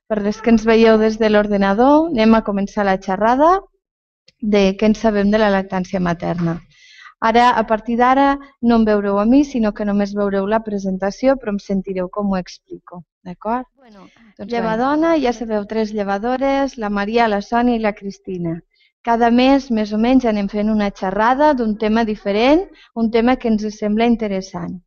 per les que ens veieu des de l'ordinador, anem a començar la xerrada de què en sabem de la lactància materna. Ara, a partir d'ara, no em veureu a mi, sinó que només veureu la presentació, però em sentireu com ho explico, d'acord? Llevadona, ja sabeu, 3 llevadores, la Maria, la Sònia i la Cristina. Cada mes, més o menys, anem fent una xerrada d'un tema diferent, un tema que ens sembla interessant.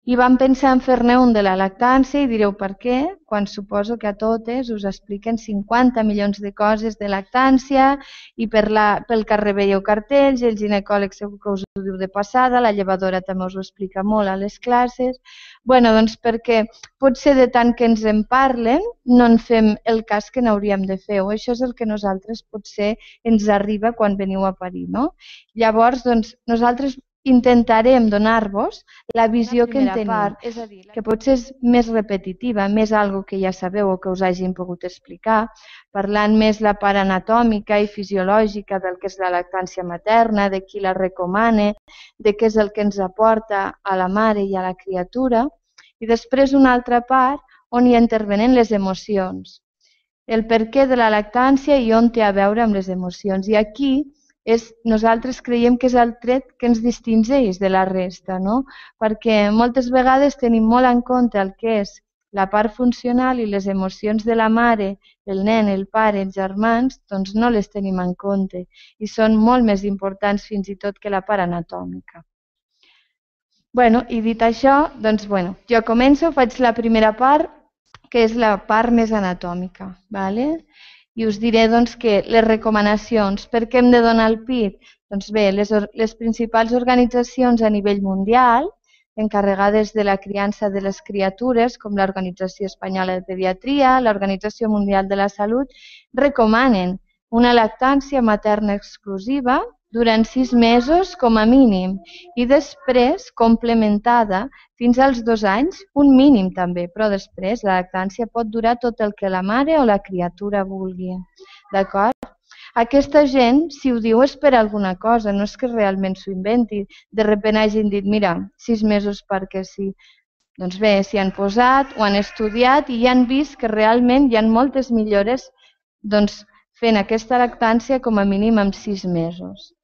I vam pensar en fer-ne un de la lactància i direu per què, quan suposo que a totes us expliquen 50 milions de coses de lactància i pel carrer veieu cartells, el ginecòleg segur que us ho diu de passada, la llevadora també us ho explica molt a les classes. Bueno, doncs perquè potser de tant que ens en parlen no en fem el cas que n'hauríem de fer, o això és el que nosaltres potser ens arriba quan veniu a parir, no? Llavors, doncs, nosaltres intentarem donar-vos la visió que en tenim, és a dir, que potser és més repetitiva, més algo que ja sabeu o que us hagin pogut explicar, parlant més la part anatòmica i fisiològica del que és la lactància materna, de qui la recomana, de què és el que ens aporta a la mare i a la criatura, i després una altra part on hi intervenen les emocions, el perquè de la lactància i on té a veure amb les emocions. I aquí nosaltres creiem que és el tret que ens distingeix de la resta, no? Perquè moltes vegades tenim molt en compte el que és la part funcional i les emocions de la mare, el nen, el pare, els germans, doncs no les tenim en compte i són molt més importants fins i tot que la part anatòmica. Bueno, i dit això, doncs jo començo, faig la primera part, que és la part més anatòmica, d'acord? I us diré que les recomanacions, per què hem de donar el pit? Doncs bé, les principals organitzacions a nivell mundial, encarregades de la criança de les criatures, com l'Organització Espanyola de Pediatria, l'Organització Mundial de la Salut, recomanen una lactància materna exclusiva durant 6 mesos com a mínim i després complementada fins als 2 anys, un mínim també, però després la lactància pot durar tot el que la mare o la criatura vulgui. D'acord? Aquesta gent, si ho diu, és per alguna cosa, no és que realment s'ho inventi. De sobte hagin dit, mira, 6 mesos perquè sí. Doncs bé, s'hi han posat, ho han estudiat i ja han vist que realment hi ha moltes millores fent aquesta lactància com a mínim en 6 mesos.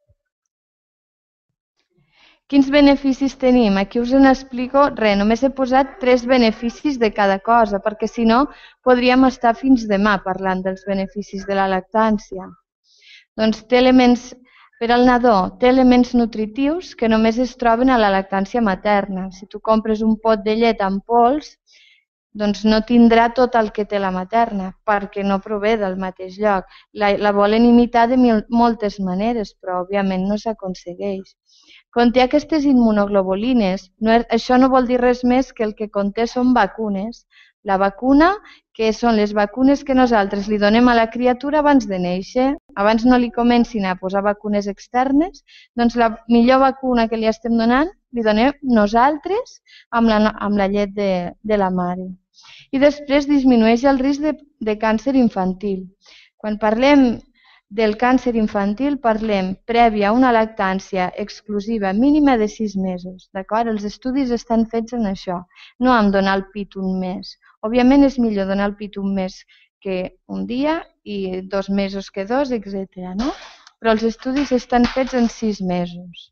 Quins beneficis tenim? Aquí us n'explico res, només he posat 3 beneficis de cada cosa, perquè si no podríem estar fins demà parlant dels beneficis de la lactància. Doncs té elements, per al nadó, té elements nutritius que només es troben a la lactància materna. Si tu compres un pot de llet en pols, doncs no tindrà tot el que té la materna, perquè no prové del mateix lloc. La volen imitar de moltes maneres, però òbviament no s'aconsegueix. Conté aquestes immunoglobulines. Això no vol dir res més que el que conté són vacunes. La vacuna, que són les vacunes que nosaltres li donem a la criatura abans de néixer, abans no li comencin a posar vacunes externes, doncs la millor vacuna que li estem donant li donem nosaltres amb la llet de la mare. I després disminueix el risc de càncer infantil. Quan parlem del càncer infantil parlem prèvia a una lactància exclusiva mínima de 6 mesos. D'acord? Els estudis estan fets en això, no en donar el pit un mes. Òbviament és millor donar el pit un mes que un dia i 2 mesos que 2, etc. Però els estudis estan fets en 6 mesos.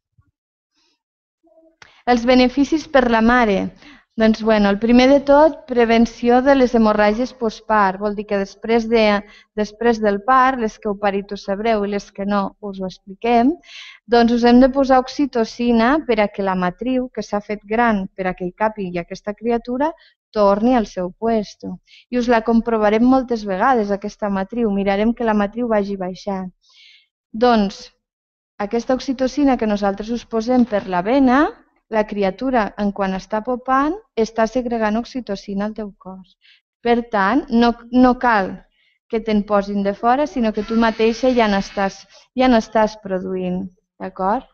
Els beneficis per la mare. Doncs, el primer de tot, prevenció de les hemorràgies postpart. Vol dir que després del part, les que heu parit ho sabreu i les que no us ho expliquem, doncs us hem de posar oxitocina per a que la matriu, que s'ha fet gran per a que hi càpigui aquesta criatura, torni al seu puesto. I us la comprovarem moltes vegades, aquesta matriu. Mirarem que la matriu vagi baixant. Doncs, aquesta oxitocina que nosaltres us posem per la vena, la criatura, quan està popant, està segregant oxitocina al teu cos. Per tant, no cal que te'n posin de fora, sinó que tu mateixa ja n'estàs produint. D'acord?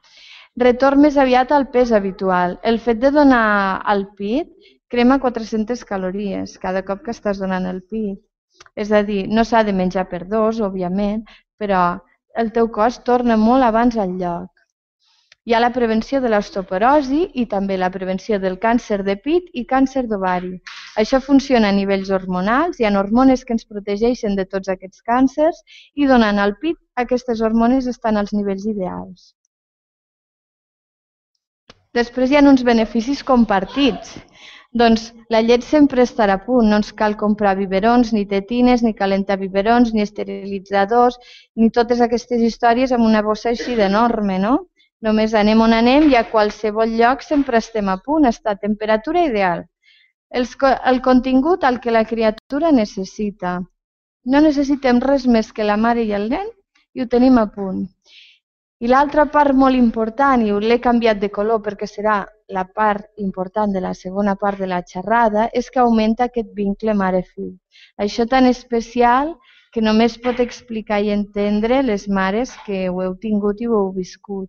Retorn més aviat al pes habitual. El fet de donar el pit crema 400 calories cada cop que estàs donant el pit. És a dir, no s'ha de menjar per 2, òbviament, però el teu cos torna molt abans al lloc. Hi ha la prevenció de l'osteoporosi i també la prevenció del càncer de pit i càncer d'ovari. Això funciona a nivells hormonals, hi ha hormones que ens protegeixen de tots aquests càncers i donant al pit aquestes hormones estan als nivells ideals. Després hi ha uns beneficis compartits. Doncs la llet sempre estarà a punt, no ens cal comprar biberons, ni tetines, ni calentar biberons, ni esterilitzadors, ni totes aquestes històries amb una bossa així d'enorme, no? Només anem on anem i a qualsevol lloc sempre estem a punt, està a temperatura ideal. El contingut al que la criatura necessita. No necessitem res més que la mare i el nen i ho tenim a punt. I l'altra part molt important, i l'he canviat de color perquè serà la part important de la segona part de la xerrada, és que augmenta aquest vincle mare-fill. Això tan especial que només pot explicar i entendre les mares que ho heu tingut i ho heu viscut.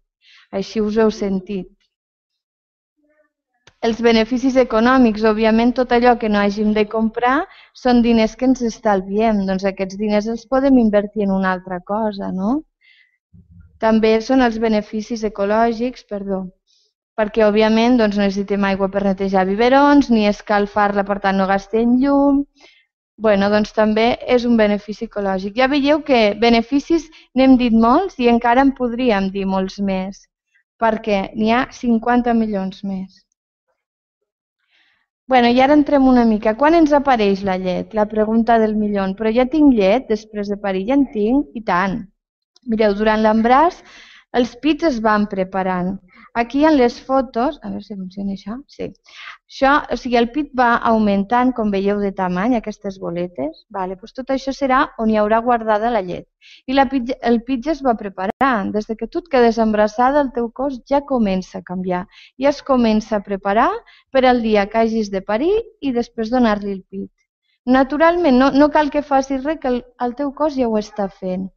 Així us heu sentit. Els beneficis econòmics, òbviament, tot allò que no hàgim de comprar són diners que ens estalviem. Doncs aquests diners els podem invertir en una altra cosa, no? També són els beneficis ecològics, perquè òbviament no necessitem aigua per netejar biberons, ni escalfar-la, per tant no gastem llum. Doncs també és un benefici ecològic. Ja veieu que beneficis n'hem dit molts i encara en podríem dir molts més, perquè n'hi ha 50 milions més. I ara entrem una mica. Quan ens apareix la llet? La pregunta del milió. Però ja tinc llet després de parir? Ja en tinc? I tant. Mireu, durant l'embaràs els pits es van preparant. Aquí en les fotos, a veure si funciona això, sí. O sigui, el pit va augmentant, com veieu, de tamany, aquestes boletes. Doncs tot això serà on hi haurà guardada la llet. I el pit ja es va preparant. Des que tu et quedes embarassada, el teu cos ja comença a canviar. Ja es comença a preparar per al dia que hagis de parir i després donar-li el pit. Naturalment, no cal que facis res, que el teu cos ja ho està fent.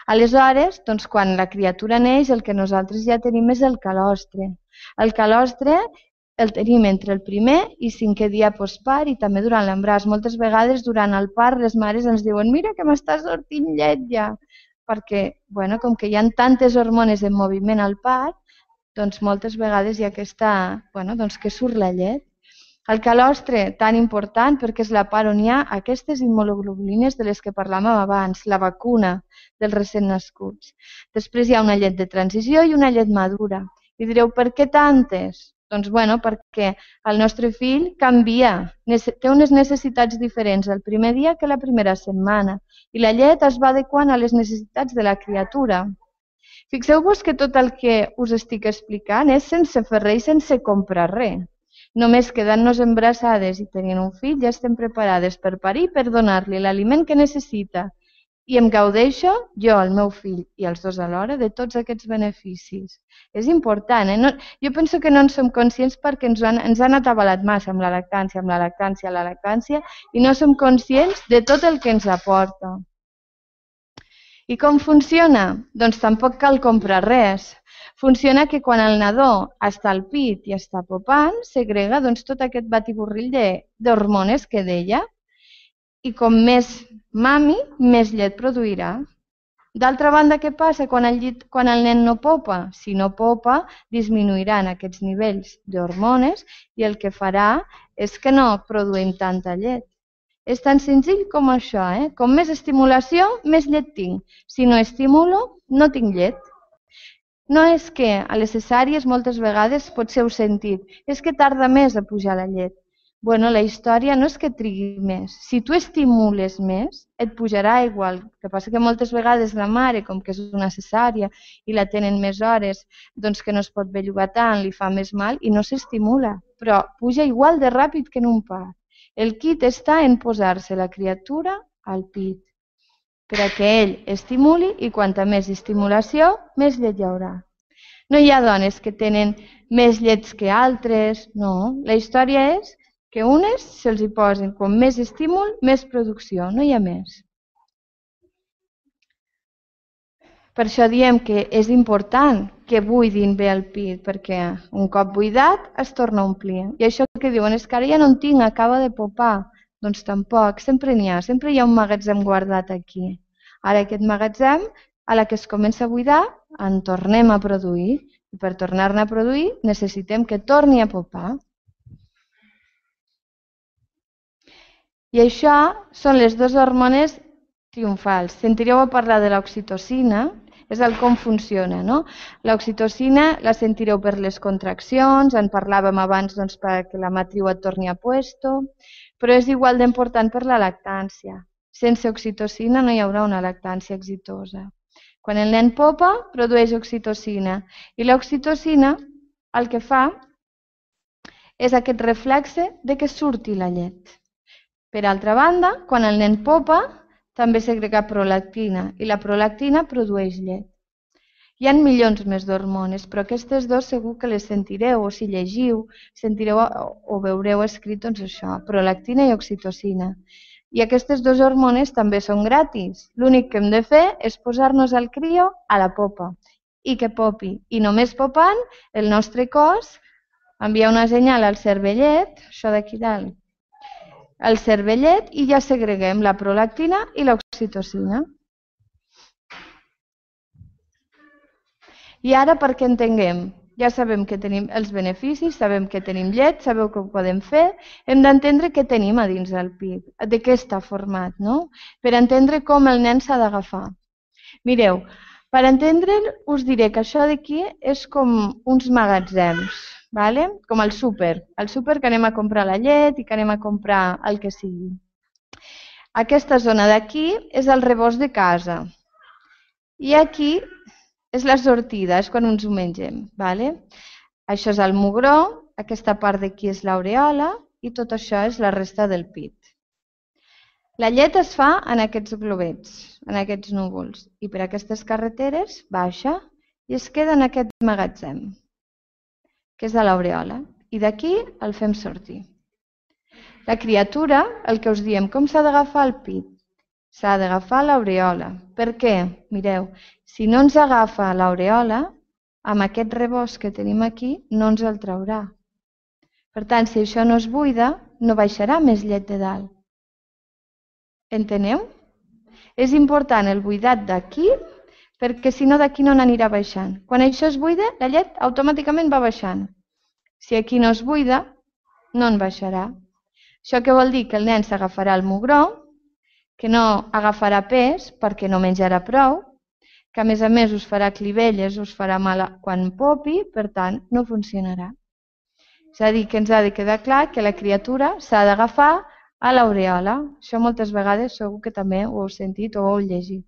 Aleshores, quan la criatura neix, el que nosaltres ja tenim és el calostre. El calostre el tenim entre el primer i 5è dia postpart i també durant l'embaràs. Moltes vegades durant el part les mares ens diuen «Mira que m'està sortint llet ja!» Perquè, com que hi ha tantes hormones en moviment al part, doncs moltes vegades hi ha que surt la llet. El calostre, tan important, perquè és la part on hi ha aquestes immunoglobulines de les que parlàvem abans, la vacuna dels recent nascuts. Després hi ha una llet de transició i una llet madura. I direu, per què tantes? Doncs perquè el nostre fill canvia, té unes necessitats diferents el primer dia que la primera setmana i la llet es va adequant a les necessitats de la criatura. Fixeu-vos que tot el que us estic explicant és sense fer res i sense comprar res. Només quedant-nos embarassades i tenint un fill ja estem preparades per parir i per donar-li l'aliment que necessita. I em gaudeixo, jo, el meu fill i els dos alhora, de tots aquests beneficis. És important, Jo penso que no en som conscients perquè ens han atabalat massa amb la lactància, i no som conscients de tot el que ens aporta. I com funciona? Doncs tampoc cal comprar res. Funciona que quan el nadó està al pit i està popant, segrega tot aquest batiburrill d'hormones que deia i com més mami, més llet produirà. D'altra banda, què passa quan el nen no popa? Si no popa, disminuiran aquests nivells d'hormones i el que farà és que no produïm tanta llet. És tan senzill com això, Com més estimulació, més llet tinc. Si no estimulo, no tinc llet. No és que a les cesàries moltes vegades potser heu sentit, és que tarda més a pujar la llet. La història no és que trigui més. Si tu estimules més, et pujarà igual. El que passa que moltes vegades la mare, com que és una cesària i la tenen més hores, doncs que no es pot bellugar tant, li fa més mal i no s'estimula. Però puja igual de ràpid que en un part. El quid està en posar-se la criatura al pit, per a que ell estimuli i quanta més estimulació, més llet hi haurà. No hi ha dones que tenen més llets que altres, no. La història és que unes se'ls hi posen com més estímul, més producció, no hi ha més. Per això diem que és important que buidin bé el pit, perquè un cop buidat es torna a omplir. I això que diuen és que ara ja no en tinc, acaba de popar. Doncs tampoc, sempre n'hi ha, sempre hi ha un magatzem guardat aquí. Ara aquest magatzem, a la que es comença a buidar, en tornem a produir. I per tornar-ne a produir necessitem que torni a popar. I això són les dues hormones triomfals. Sentireu a parlar de l'oxitocina, és el com funciona, no? L'oxitocina la sentireu per les contraccions, en parlàvem abans doncs, perquè la matriu et torni a puesto, però és igual d'important per la lactància. Sense oxitocina no hi haurà una lactància exitosa. Quan el nen popa, produeix oxitocina i l'oxitocina el que fa és aquest reflexe de que surti la llet. Per altra banda, quan el nen popa, també segrega prolactina i la prolactina produeix llet. Hi ha milions més d'hormones, però aquestes dues segur que les sentireu, o si llegiu, sentireu o veureu escrit doncs això, prolactina i oxitocina. I aquestes dues hormones també són gratis. L'únic que hem de fer és posar-nos el crio a la popa i que popi. I només popant, el nostre cos envia una senyal al cervellet, això d'aquí dalt, al cervellet i ja segreguem la prolactina i l'oxitocina. I ara perquè entenguem, ja sabem que tenim els beneficis, sabem que tenim llet, sabeu que ho podem fer, hem d'entendre què tenim a dins del pit, de què està format, no? Per entendre com el nen s'ha d'agafar. Mireu, per entendre'l us diré que això d'aquí és com uns magatzems, ¿vale? Com el súper que anem a comprar la llet i que anem a comprar el que sigui. Aquesta zona d'aquí és el rebost de casa i aquí és la sortida, és quan ens ho mengem. ¿Vale? Això és el mugró, aquesta part d'aquí és l'aureola i tot això és la resta del pit. La llet es fa en aquests globets, en aquests núvols, i per aquestes carreteres baixa i es queda en aquest magatzem, que és a l'aureola, i d'aquí el fem sortir. La criatura, el que us diem, com s'ha d'agafar el pit? S'ha d'agafar l'aureola. Per què? Mireu, si no ens agafa l'aureola, amb aquest rebost que tenim aquí, no ens el traurà. Per tant, si això no es buida, no baixarà més llet de dalt. Enteneu? És important el buidat d'aquí, perquè si no d'aquí no n'anirà baixant. Quan això es buida, la llet automàticament va baixant. Si aquí no es buida, no en baixarà. Això què vol dir? Que el nen s'agafarà el mugró, que no agafarà pes perquè no menjarà prou, que a més us farà clivelles, us farà mal quan popi, per tant, no funcionarà. És a dir, que ens ha de quedar clar que la criatura s'ha d'agafar a l'aureola. Això moltes vegades segur que també ho heu sentit o ho heu llegit.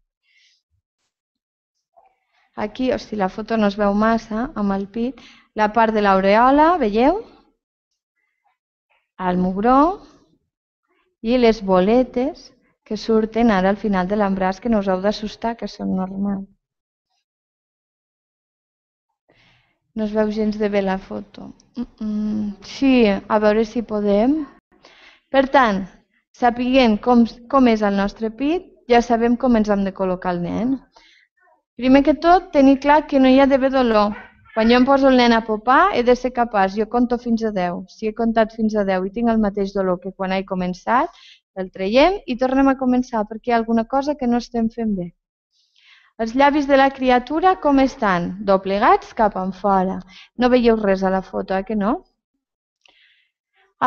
Aquí, si la foto no es veu massa, amb el pit, la part de l'aureola, veieu? El mugró i les boletes que surten ara al final de l'embràs, que no us heu d'assustar, que són normals. No es veu gens de bé la foto. Sí, a veure si podem. Per tant, sapiguem com és el nostre pit, ja sabem com ens hem de col·locar el nen. Primer que tot, tenir clar que no hi ha d'haver dolor. Quan jo em poso el nen a popar, he de ser capaç. Jo conto fins a 10. Si he comptat fins a 10 i tinc el mateix dolor que quan he començat, el traiem i tornem a començar perquè hi ha alguna cosa que no estem fent bé. Els llavis de la criatura com estan? Doblegats cap enfora. No veieu res a la foto, que no?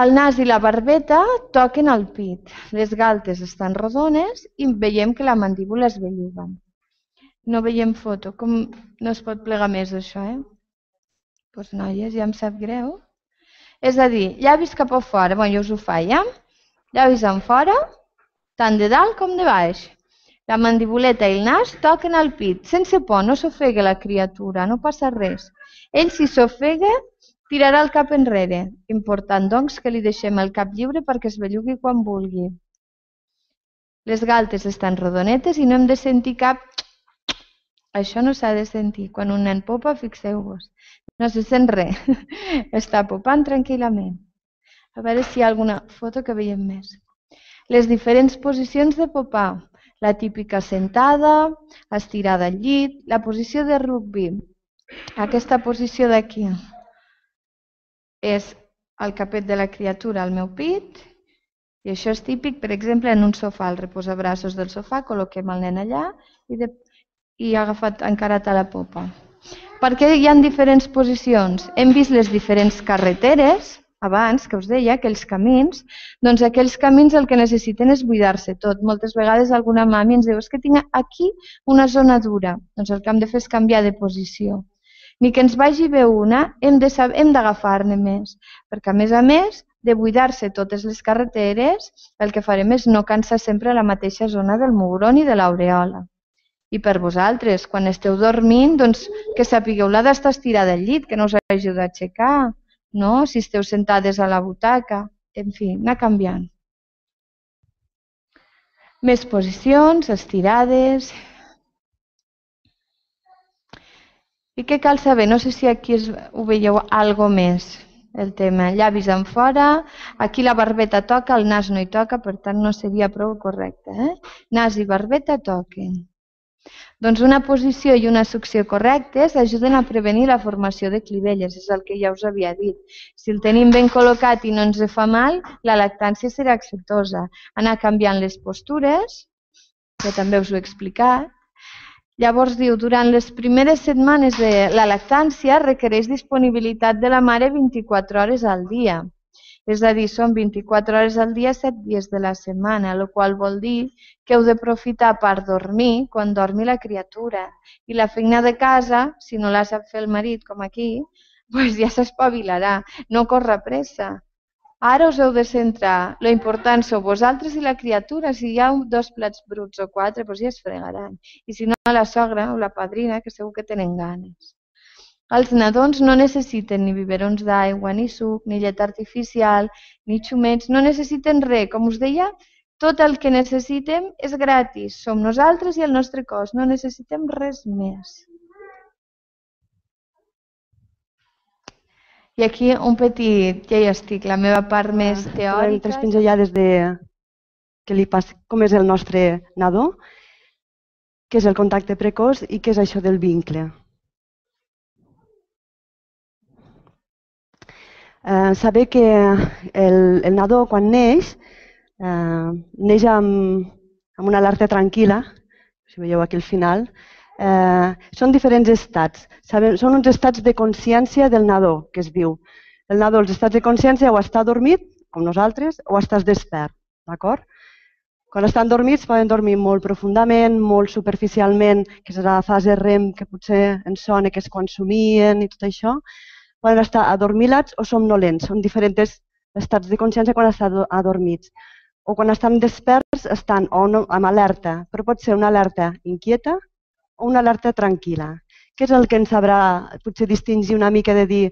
El nas i la barbeta toquen el pit. Les galtes estan rodones i veiem que la mandíbula es belluga. No veiem foto. Com no es pot plegar més això, Doncs noies, ja em sap greu. És a dir, llavis cap a fora. Bé, jo us ho faig, Llavis en fora, tant de dalt com de baix. La mandibuleta i el nas toquen al pit. Sense por, no s'ofega la criatura, no passa res. Ell, si s'ofega, tirarà el cap enrere. Important, doncs, que li deixem el cap lliure perquè es bellugui quan vulgui. Les galtes estan rodonetes i no hem de sentir cap... Això no s'ha de sentir. Quan un nen popa, fixeu-vos. No se sent res. Està popant tranquil·lament. A veure si hi ha alguna foto que veiem més. Les diferents posicions de popar. La típica sentada, estirada al llit, la posició de rugby. Aquesta posició d'aquí és el capet de la criatura al meu pit i això és típic, per exemple, en un sofà, al reposabraços del sofà, col·loquem el nen allà i agafat encarat a la popa. Per què hi ha diferents posicions? Hem vist les diferents carreteres, abans, que us deia, aquells camins, doncs aquells camins el que necessiten és buidar-se tot. Moltes vegades alguna mami ens diu és que tinc aquí una zona dura. Doncs el que hem de fer és canviar de posició. Ni que ens vagi bé una, hem d'agafar-ne més, perquè a més, de buidar-se totes les carreteres, el que farem és no cansar sempre la mateixa zona del mugró ni de l'aureola. I per vosaltres, quan esteu dormint, doncs que sapigueu la d'estar estirada al llit, que no us hagi d'aixecar, no? Si esteu sentades a la butaca, en fi, anar canviant. Més posicions, estirades. I què cal saber? No sé si aquí ho veieu algo més, el tema. Llavis en fora, aquí la barbeta toca, el nas no hi toca, per tant no seria prou correcte. Nas i barbeta toquen. Doncs una posició i una succió correctes ajuden a prevenir la formació de clivelles, és el que ja us havia dit. Si el tenim ben col·locat i no ens fa mal, la lactància serà exitosa. Anar canviant les postures, que també us ho he explicat. Llavors diu, durant les primeres setmanes de la lactància requereix disponibilitat de la mare 24 hores al dia. És a dir, són 24 hores al dia, 7 dies de la setmana, el qual vol dir que heu d'aprofitar per dormir quan dormi la criatura. I la feina de casa, si no la sap fer el marit, com aquí, doncs ja s'espavilarà, no corre pressa. Ara us heu de centrar. Lo important sou vosaltres i la criatura. Si hi ha 2 plats bruts o 4, doncs ja es fregaran. I si no, la sogra o la padrina, que segur que tenen ganes. Els nadons no necessiten ni biberons d'aigua, ni suc, ni llet artificial, ni xumets, no necessiten res. Com us deia, tot el que necessitem és gratis. Som nosaltres i el nostre cos, no necessitem res més. I aquí un petit, ja hi estic, la meva part més teòrica. 3 pinzellades de què li passa, com és el nostre nadó, què és el contacte precoç i què és això del vincle. Saber que el nadó, quan neix, neix amb una alerta tranquil·la, si veieu aquí al final. Són diferents estats. Són uns estats de consciència del nadó, que es diu. El nadó, els estats de consciència, o està dormit, com nosaltres, o estàs despert. D'acord? Quan estan dormits, poden dormir molt profundament, molt superficialment, que és la fase REM, que potser ens sona, que és quan somien i tot això. Poden estar adormilats o somnolents. Són diferents estats de consciència quan estan adormits. O quan estan desperts, estan amb alerta, però pot ser una alerta inquieta o una alerta tranquil·la. Què és el que ens sabrà potser distingir una mica de dir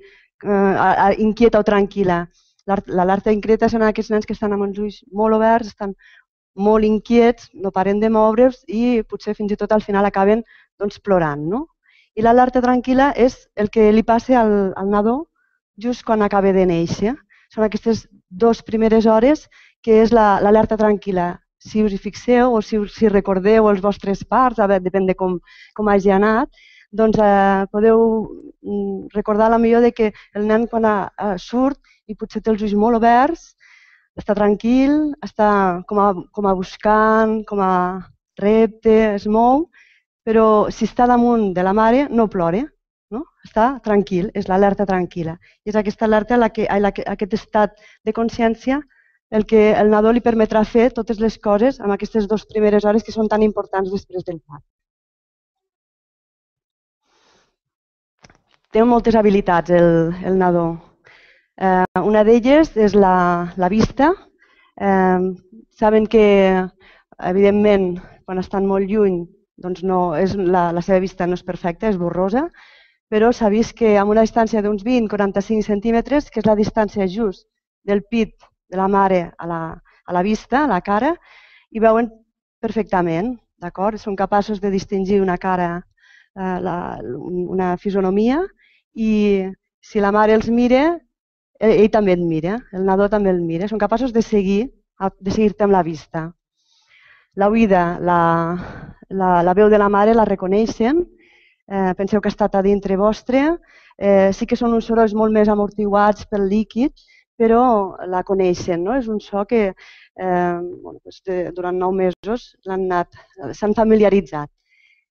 inquieta o tranquil·la? L'alerta inquieta són aquests nens que estan amb els ulls molt oberts, estan molt inquiets, no paren de moure's i potser fins i tot al final acaben plorant, no? I l'alerta tranquil·la és el que li passa al nadó just quan acaba de néixer. Són aquestes 2 primeres hores que és l'alerta tranquil·la. Si us hi fixeu o si recordeu els vostres parts, depèn de com hagi anat, doncs podeu recordar potser que el nen quan surt i potser té els ulls molt oberts, està tranquil, està com a buscant, com a repte, es mou, però si està damunt de la mare no plora, no? Està tranquil, és l'alerta tranquil·la. I és aquesta alerta, aquest estat de consciència, el que el nadó li permetrà fer totes les coses en aquestes 2 primeres hores que són tan importants després del part. Té moltes habilitats el nadó. Una d'elles és la vista. Saben que, evidentment, quan estan molt lluny, doncs la seva vista no és perfecta, és borrosa, però s'ha vist que amb una distància d'uns 20-45 centímetres, que és la distància just del pit de la mare a la vista, a la cara, hi veuen perfectament, d'acord? Són capaços de distingir una cara, una fisonomia, i si la mare els mira, ell també et mira, el nadó també el mira. Són capaços de seguir-te amb la vista. L'oïda, la veu de la mare la reconeixen, penseu que ha estat a dintre vostre, sí que són uns sorolls molt més amortiguats pel líquid, però la coneixen, no? És un so que durant 9 mesos s'han familiaritzat.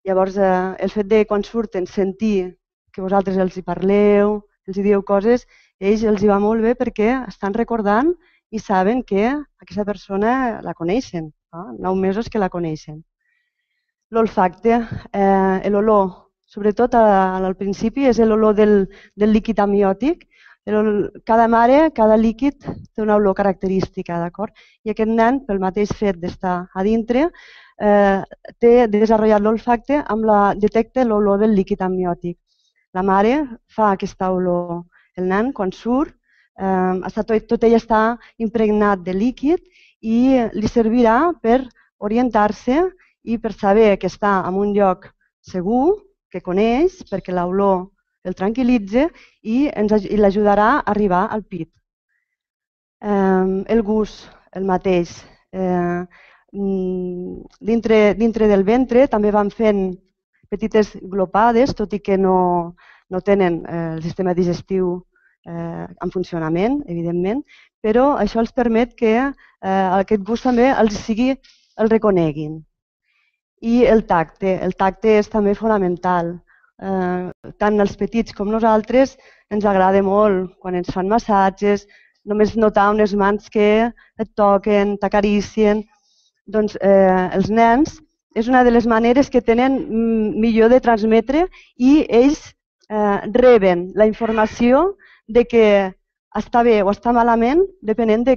Llavors, el fet de quan surten sentir que vosaltres els hi parleu, els hi dieu coses, ells els hi va molt bé perquè estan recordant i saben que aquesta persona la coneixen, 9 mesos que la coneixen. L'olfacte, l'olor, sobretot al principi, és l'olor del líquid amniòtic. Cada mare, cada líquid té una olor característica, d'acord? I aquest nen, pel mateix fet d'estar a dintre, té desenvolupat l'olfacte detecta l'olor del líquid amniòtic. La mare fa aquesta olor. El nen, quan surt, tot ell està impregnat de líquid i li servirà per orientar-se i per saber que està en un lloc segur, que coneix, perquè l'olor el tranquil·litza i l'ajudarà a arribar al pit. El gust, el mateix. Dintre del ventre també van fent petites glopades, tot i que no tenen el sistema digestiu en funcionament, evidentment, però això els permet que aquest gust també el reconeguin. I el tacte és també fonamental. Tant els petits com nosaltres ens agrada molt quan ens fan massatges, només notar unes mans que et toquen, t'acaricien. Doncs els nens és una de les maneres que tenen millor de transmetre i ells reben la informació de que està bé o està malament depenent de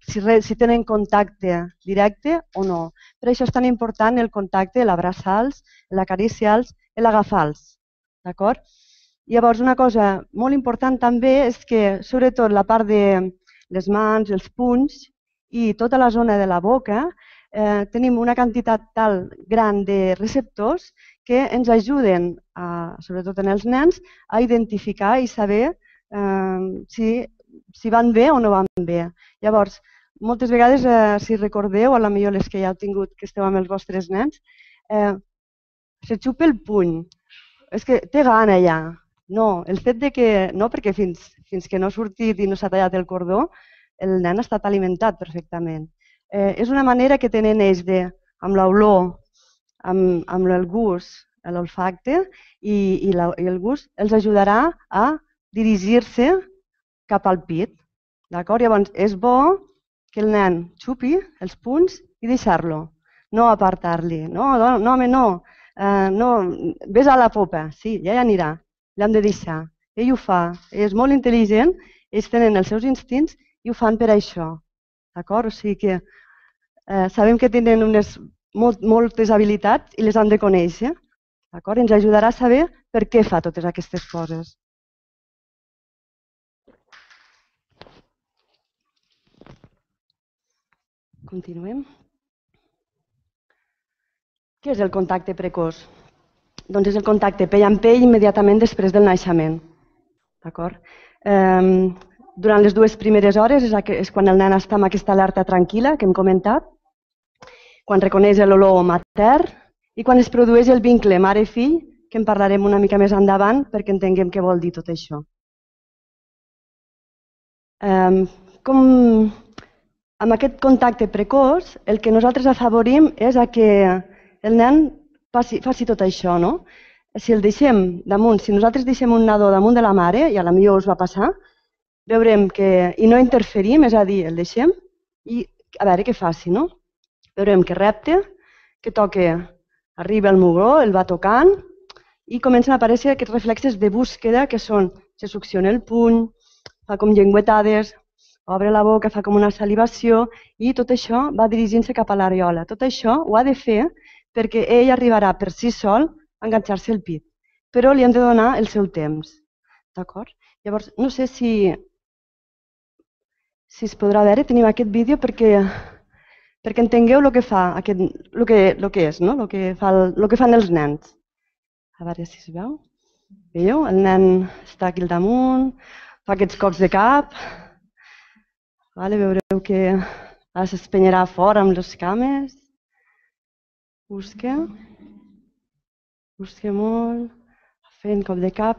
si tenen contacte directe o no. Per això és tan important el contacte, l'abraçar-los, l'acariciar-los i l'agafar-los. D'acord? Llavors, una cosa molt important també és que, sobretot la part de les mans, els punys i tota la zona de la boca, tenim una quantitat tal gran de receptors que ens ajuden, sobretot en els nens, a identificar i saber si van bé o no van bé. Llavors, moltes vegades, si recordeu, o potser les que ja heu tingut, que esteu amb els vostres nens, se xupa el puny. És que té gana ja. No, el fet de que no, perquè fins que no ha sortit i no s'ha tallat el cordó, el nen ha estat alimentat perfectament. És una manera que tenen ells amb l'olor, amb el gust, l'olfacte i el gust, els ajudarà a dirigir-se cap al pit. D'acord? Llavors, és bo que el nen xupi els punys i deixar-lo, no apartar-li. No, home, no. Ves a la popa, sí, ja anirà, l'hem de deixar. Ell ho fa, és molt intel·ligent, ells tenen els seus instints i ho fan per això. D'acord? O sigui que sabem que tenen moltes habilitats i les han de conèixer. D'acord? Ens ajudarà a saber per què fa totes aquestes coses. Continuem. Què és el contacte precoç? Doncs és el contacte pell amb pell immediatament després del naixement. D'acord? Durant les 2 primeres hores és quan el nen està amb aquesta alerta tranquil·la que hem comentat, quan reconeix l'olor matern i quan es produeix el vincle mare-fill, que en parlarem una mica més endavant perquè entenguem què vol dir tot això. Amb aquest contacte precoç, el que nosaltres afavorim és que el nen faci tot això, no? Si el deixem damunt, si nosaltres deixem un nadó damunt de la mare, i potser us va passar, veurem que, i no interferim, és a dir, el deixem i a veure què faci, no? Veurem que repte, que toca, arriba al mugró, el va tocant i comencen a aparèixer aquests reflexes de búsqueda que són, se succiona el puny, fa com llengüetades, obre la boca, fa com una salivació i tot això va dirigint-se cap a l'areola. Tot això ho ha de fer perquè ell arribarà per si sol a enganxar-se al pit, però li hem de donar el seu temps. D'acord? Llavors, no sé si es podrà veure, tenim aquest vídeo perquè entengueu el que fa, el que és, no? El que fan els nens. A veure si es veu. Veieu? El nen està aquí al damunt, fa aquests cops de cap. Veureu que s'espenyarà fora amb les cames. Busca molt, fent cop de cap,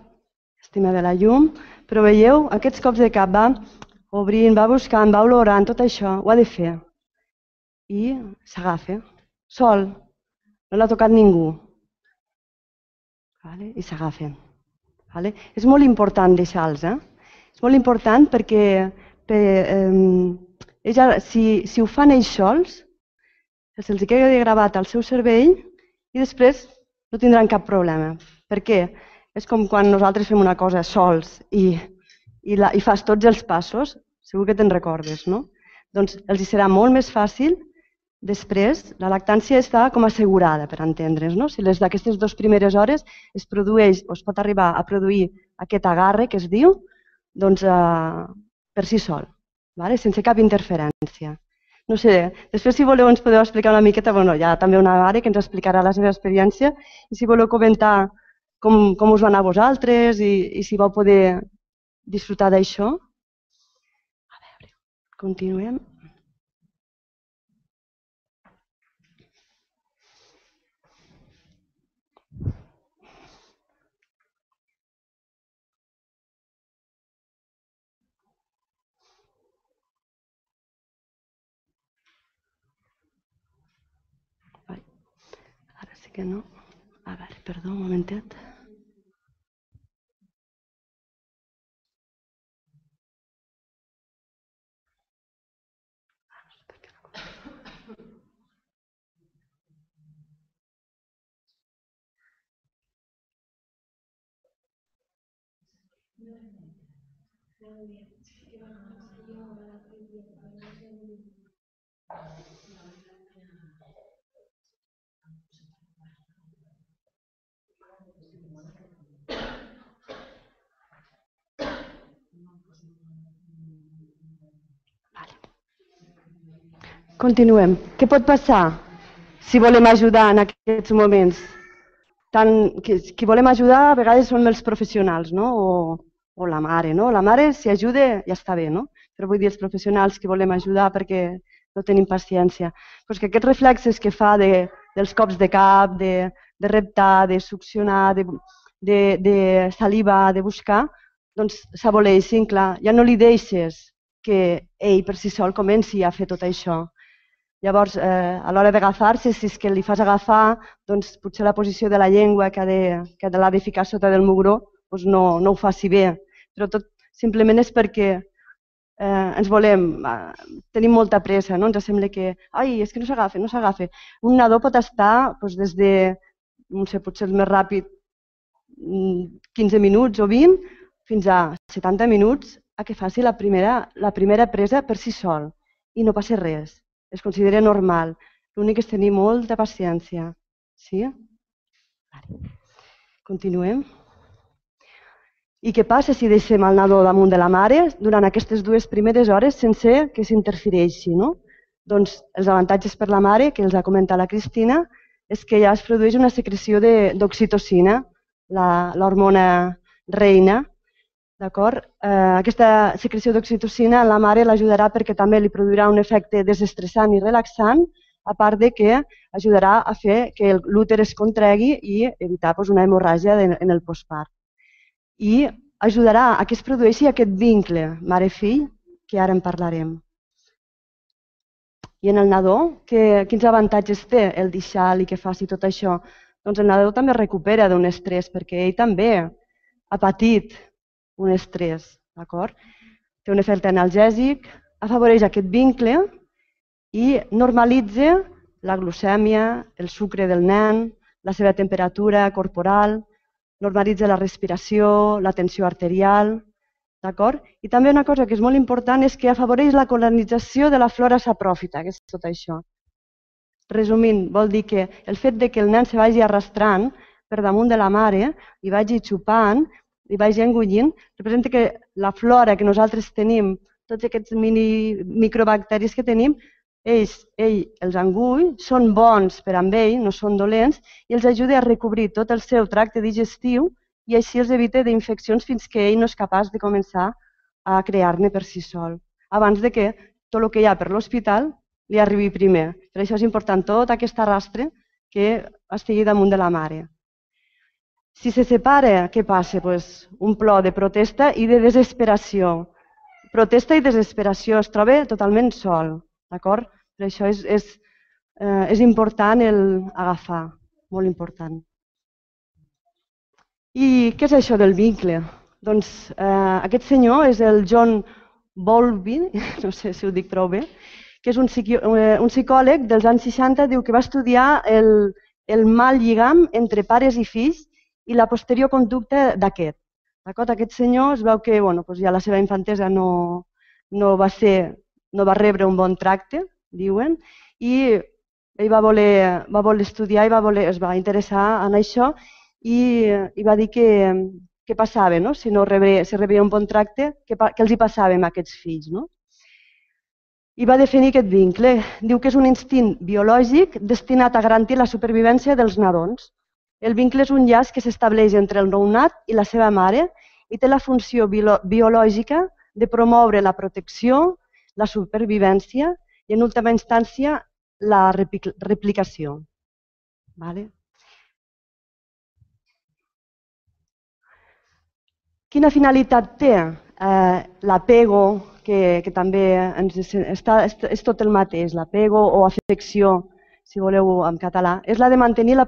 estima de la llum. Però veieu, aquests cops de cap va obrint, va buscant, va olorant, tot això ho ha de fer. I s'agafa, sol, no l'ha tocat ningú. I s'agafen. És molt important deixar-los. És molt important perquè si ho fan ells sols, se'ls queda gravat al seu cervell i després no tindran cap problema. Per què? És com quan nosaltres fem una cosa sols i fas tots els passos, segur que te'n recordes, no? Doncs els serà molt més fàcil després. La lactància està com assegurada, per entendre's, no? Si d'aquestes 2 primeres hores es produeix o es pot arribar a produir aquest agarre que es diu, doncs per si sol, sense cap interferència. No sé, després si voleu ens podeu explicar una miqueta, hi ha també una mare que ens explicarà la seva experiència i si voleu comentar com us va anar a vosaltres i si vau poder disfrutar d'això. A veure, continuem. Ara sí que no. A veure, perdó, un momentet. Continuem. Què pot passar si volem ajudar en aquests moments? Qui volem ajudar a vegades són els professionals, no? O la mare, no? La mare, si ajuda, ja està bé, no? Però vull dir els professionals que volem ajudar perquè no tenim paciència. Doncs que aquests reflexes que fa dels cops de cap, de reptar, de succionar, de salivar, de buscar, doncs s'aboleixin, clar. Ja no li deixes que ell per si sol comenci a fer tot això. Llavors, a l'hora d'agafar-se, si és que li fas agafar, doncs potser la posició de la llengua que l'ha de ficar sota del mugró doncs no ho faci bé. Però tot simplement és perquè ens volem, tenim molta pressa, no? Ens sembla que, és que no s'agafa, no s'agafa. Un nadó pot estar des de, no sé, potser el més ràpid, 15 minuts o 20, fins a 70 minuts a que faci la primera presa per si sol i no passa res. Es considera normal. L'únic és tenir molta paciència. Sí? Continuem. I què passa si deixem el nadó damunt de la mare durant aquestes 2 primeres hores sense que s'interfereixi, no? Doncs els avantatges per la mare, que els ha comentat la Cristina, és que ja es produeix una secreció d'oxitocina, l'hormona reina. D'acord? Aquesta secreció d'oxitocina a la mare l'ajudarà perquè també li produirà un efecte desestressant i relaxant, a part de que ajudarà a fer que l'úter es contregui i evitar una hemorràgia en el postpart. I ajudarà a que es produeixi aquest vincle mare-fill, que ara en parlarem. I en el nadó, quins avantatges té el deixar-li que faci tot això? Doncs el nadó també recupera d'un estrès, perquè ell també ha patit un estrès, d'acord? Té un efecte analgèsic, afavoreix aquest vincle i normalitza la glucèmia, el sucre del nen, la seva temperatura corporal, normalitza la respiració, la tensió arterial, d'acord? I també una cosa que és molt important és que afavoreix la colonització de la flora sapròfita, que és tot això. Resumint, vol dir que el fet que el nen se vagi arrastrant per damunt de la mare i vagi xupant, i vagi engollint, representa que la flora que nosaltres tenim, tots aquests microbacteris que tenim, ell els engull, són bons per amb ell, no són dolents, i els ajuda a recobrir tot el seu tracte digestiu i així els evita d'infeccions fins que ell no és capaç de començar a crear-ne per si sol, abans de que tot el que hi ha per l'hospital li arribi primer. Per això és important tot aquest arrastre que estigui damunt de la mare. Si se separa, què passa? Un plor de protesta i de desesperació. Protesta i desesperació, es troba totalment sol, d'acord? Per això és important agafar, molt important. I què és això del vincle? Doncs aquest senyor és el John Bowlby, no sé si ho dic prou bé, que és un psicòleg dels anys 60, diu que va estudiar el mal lligam entre pares i fills i la posterior conducta d'aquest. Aquest senyor es veu que ja la seva infantesa no va rebre un bon tracte, diuen, i ell va voler estudiar i es va interessar en això i va dir què passava, si no rebia un bon tracte, què els hi passava a aquests fills. I va definir aquest vincle. Diu que és un instint biològic destinat a garantir la supervivència dels nadons. El vincle és un llaç que s'estableix entre el nounat i la seva mare i té la funció biològica de promoure la protecció, la supervivència i, en última instància, la replicació. Quina finalitat té l'apego, que també és tot el mateix, l'apego o afecció, si voleu en català, és la de mantenir la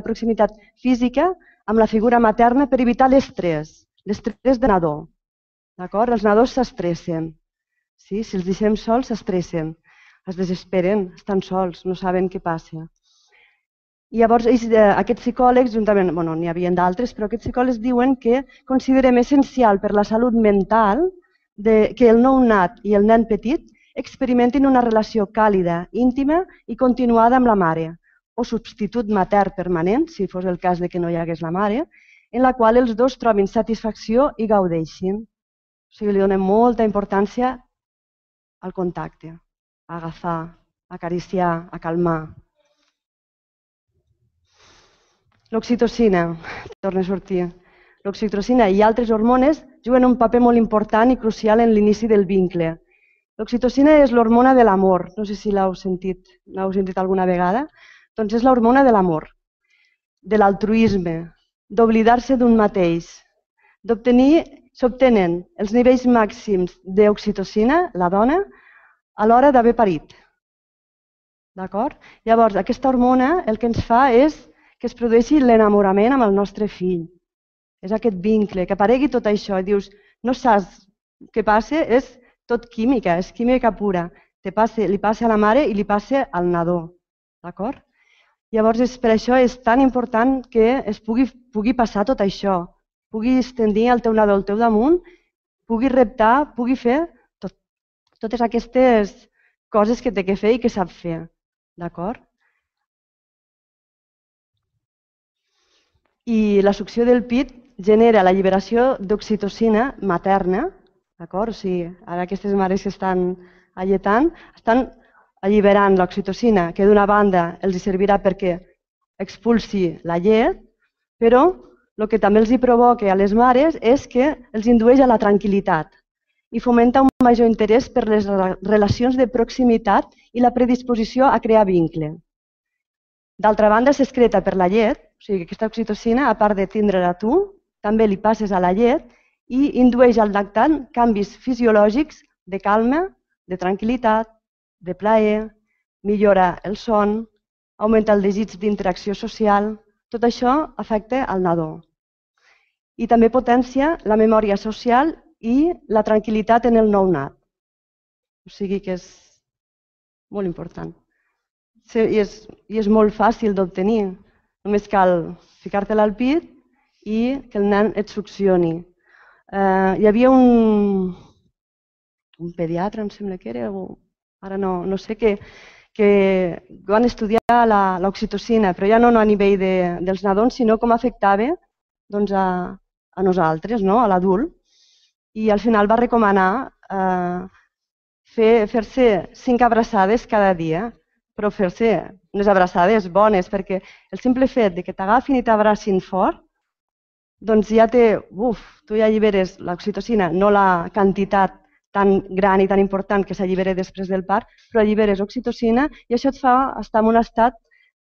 proximitat física amb la figura materna per evitar l'estrès de nadó. Els nadons s'estressen. Si els deixem sols, s'estressen, es desesperen, estan sols, no saben què passa. I llavors aquests psicòlegs, juntament, n'hi havia d'altres, però aquests psicòlegs diuen que considerem essencial per la salut mental que el nounat i el nen petit experimentin una relació càlida, íntima i continuada amb la mare, o substitut matern permanent, si fos el cas que no hi hagués la mare, en la qual els dos trobin satisfacció i gaudeixin. O sigui, li donem molta importància al contacte, a agafar, a acariciar, a calmar. L'oxitocina, torna a sortir. L'oxitocina i altres hormones juguen un paper molt important i crucial en l'inici del vincle. L'oxitocina és l'hormona de l'amor, no sé si l'heu sentit alguna vegada, doncs és l'hormona de l'amor, de l'altruisme, d'oblidar-se d'un mateix, s'obtenen els nivells màxims d'oxitocina, la dona, a l'hora d'haver parit. Llavors, aquesta hormona el que ens fa és que es produeixi l'enamorament amb el nostre fill. És aquest vincle, que aparegui tot això. I dius, no saps què passa? És tot química, és química pura. Li passa a la mare i li passa al nadó. Llavors, per això és tan important que es pugui passar tot això. Puguis tenir el teu nadó al teu damunt, puguis reptar, puguis fer totes aquestes coses que té que fer i que sap fer. D'acord? I la succió del pit genera l'alliberació d'oxitocina materna. O sigui, ara aquestes mares que estan alletant estan alliberant l'oxitocina, que d'una banda els servirà perquè expulsi la llet, però el que també els provoca a les mares és que els indueix a la tranquil·litat i fomenta un major interès per les relacions de proximitat i la predisposició a crear vincle. D'altra banda, s'excreta per la llet, o sigui que aquesta oxitocina, a part de tindre-la tu, també li passes a la llet i indueix al lactant canvis fisiològics de calma, de tranquil·litat, de plaer, millora el son, augmenta el desig d'interacció social. Tot això afecta al nadó. I també potencia la memòria social i la tranquil·litat en el nounat. O sigui que és molt important. I és molt fàcil d'obtenir. Només cal ficar-te-la al pit i que el nen et succioni. Hi havia un pediatre, em sembla que era, ara no sé, que van estudiar l'oxitocina, però ja no a nivell dels nadons, sinó com afectava a nosaltres, a l'adult. I al final va recomanar fer-se 5 abraçades cada dia, però fer-se unes abraçades bones, perquè el simple fet que t'agafin i t'abracin fort, doncs ja tu ja alliberes l'oxitocina, no la quantitat tan gran i tan important que s'allibera després del part, però alliberes oxitocina i això et fa estar en un estat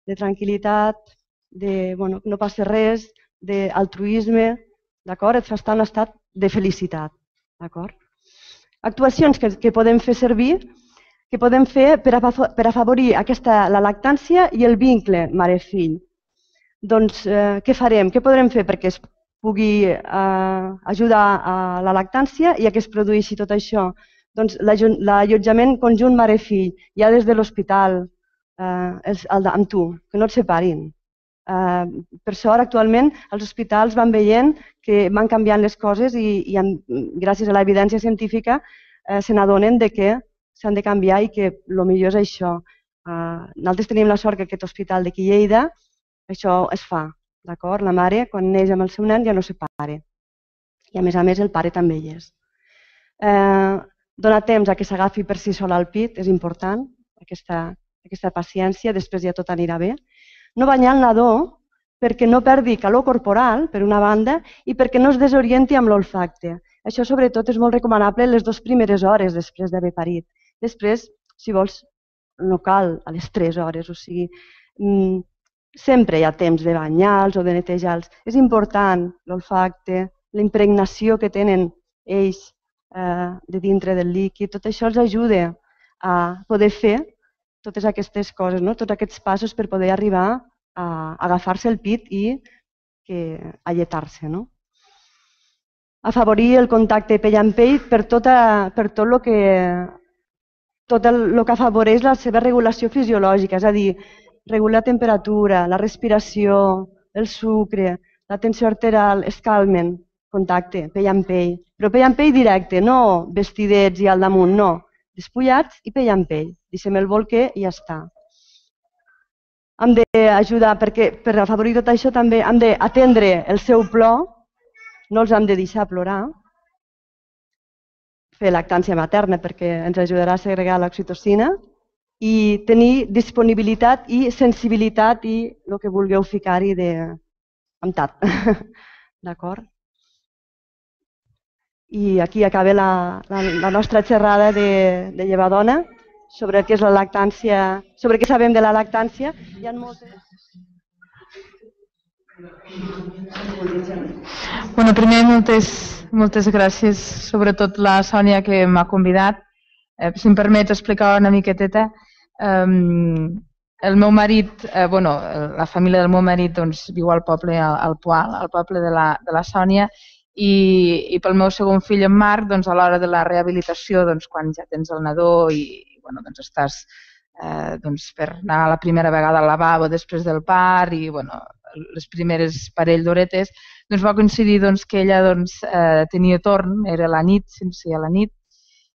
de tranquil·litat, que no passa res, d'altruisme, et fa estar en un estat de felicitat. Actuacions que podem fer servir, que podem fer per afavorir la lactància i el vincle mare-fill. Doncs què farem? Què podrem fer perquè pugui ajudar a la lactància i a que es produeixi tot això. Doncs l'allotjament conjunt mare-fill, ja des de l'hospital, amb tu, que no et separin. Per sort, actualment, els hospitals van veient que van canviant les coses i gràcies a l'evidència científica se n'adonen que s'han de canviar i que el millor és això. Nosaltres tenim la sort que aquest hospital d'aquí Lleida això es fa, d'acord? La mare, quan neix amb el seu nen, ja no separa. I a més el pare també hi és. Donar temps a que s'agafi per si sola al pit és important, aquesta paciència, després ja tot anirà bé. No banyar el nadó perquè no perdi calor corporal, per una banda, i perquè no es desorienti amb l'olfacte. Això, sobretot, és molt recomanable les 2 primeres hores després d'haver parit. Després, si vols, no cal a les 3 hores, o sigui, sempre hi ha temps de banyar-los o de netejar-los. És important l'olfacte, la impregnació que tenen ells de dintre del líquid, tot això els ajuda a poder fer totes aquestes coses, tots aquests passos per poder arribar a agafar-se el pit i a alletar-se. Afavorir el contacte pell amb pell per tot el que afavoreix la seva regulació fisiològica, és a dir, regular la temperatura, la respiració, el sucre, la tensió arterial, es calmen, contacte, pell amb pell. Però pell amb pell directe, no vestidets i al damunt, no. Despullats i pell amb pell. Deixem el bolquer i ja està. Hem d'ajudar, perquè per afavorir tot això també hem d'atendre el seu plor, no els hem de deixar plorar, fer lactància materna perquè ens ajudarà a segregar l'oxitocina i tenir disponibilitat i sensibilitat i el que vulgueu ficar-hi amb tat. D'acord? I aquí acaba la nostra xerrada de llevadona sobre què és la lactància, sobre què sabem de la lactància. Hi ha moltes... Bueno, primer, moltes gràcies, sobretot la Sònia que m'ha convidat. Si em permets explicar una miqueteta. El meu marit, la família del meu marit viu al poble, al Poal, al poble de la Sònia, i pel meu segon fill, en Marc, a l'hora de la rehabilitació, quan ja tens el nadó i estàs per anar la primera vegada al lavabo després del part i les primeres parell d'horetes, va coincidir que ella tenia torn, era la nit, sense a la nit,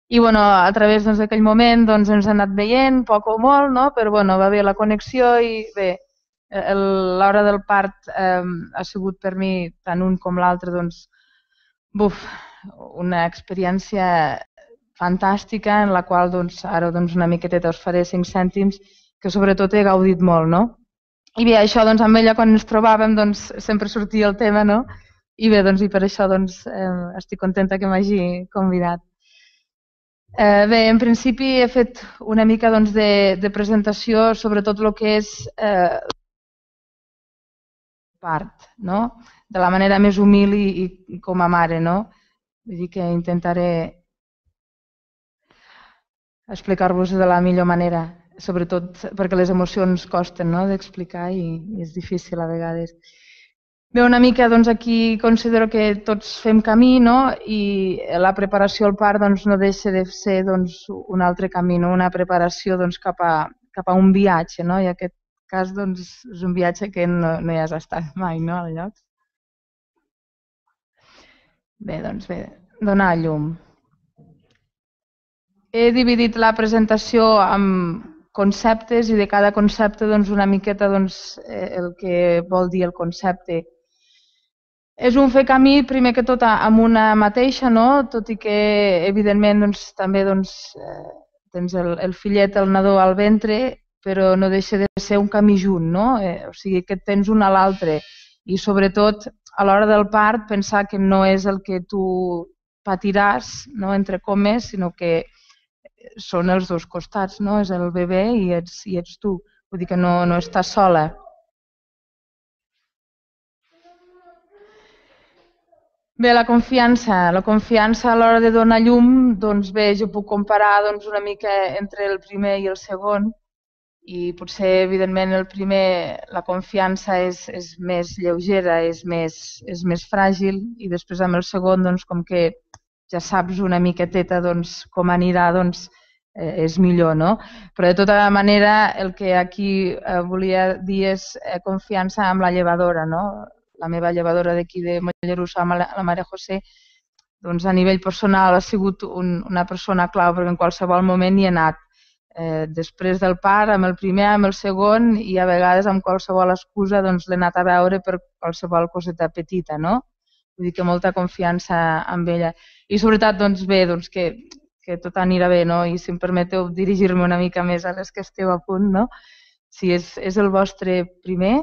i a través d'aquell moment ens ha anat veient, poc o molt, però va haver la connexió i bé, l'hora del part ha sigut per mi, tant un com l'altre, una experiència fantàstica en la qual ara una miqueteta us faré 5 cèntims que sobretot he gaudit molt, I bé, això amb ella quan ens trobàvem sempre sortia el tema, I bé, i per això estic contenta que m'hagi convidat. Bé, en principi he fet una mica de presentació sobre tot el que és part, de la manera més humil i com a mare, Vull dir que intentaré explicar-vos de la millor manera, sobretot perquè les emocions costen d'explicar i és difícil a vegades. Bé, una mica aquí considero que tots fem camí i la preparació al part no deixa de ser un altre camí, una preparació cap a un viatge, i en aquest cas és un viatge que no hi has estat mai al lloc. Bé, donar a llum. He dividit la presentació en conceptes i de cada concepte una miqueta el que vol dir el concepte. És un fer camí, primer que tot, amb una mateixa, tot i que, evidentment, també tens el fillet, el nadó al ventre, però no deixa de ser un camí junt, O sigui, que tens un a l'altre. I, sobretot, a l'hora del part, pensar que no és el que tu patiràs, entre comes, sinó que són els dos costats, és el bebè i ets tu. Vull dir que no estàs sola. Bé, la confiança a l'hora de donar llum, bé, jo puc comparar una mica entre el primer i el segon. i potser, evidentment, el primer, la confiança és més lleugera, és més fràgil, i després amb el segon, doncs, com que ja saps una miqueteta com anirà, és millor, no? Però de tota manera el que aquí volia dir és confiança amb la llevadora, no? La meva llevadora d'aquí de Mollerussa, la Maria José, doncs a nivell personal ha sigut una persona clau, perquè en qualsevol moment hi he anat. Després del part, amb el primer, amb el segon, i a vegades amb qualsevol excusa l'he anat a veure per qualsevol coseta petita, no? Vull dir que molta confiança amb ella. I sobretot, bé, que tot anirà bé, no? I si em permeteu dirigir-me una mica més a les que esteu a punt, no? Si és el vostre primer,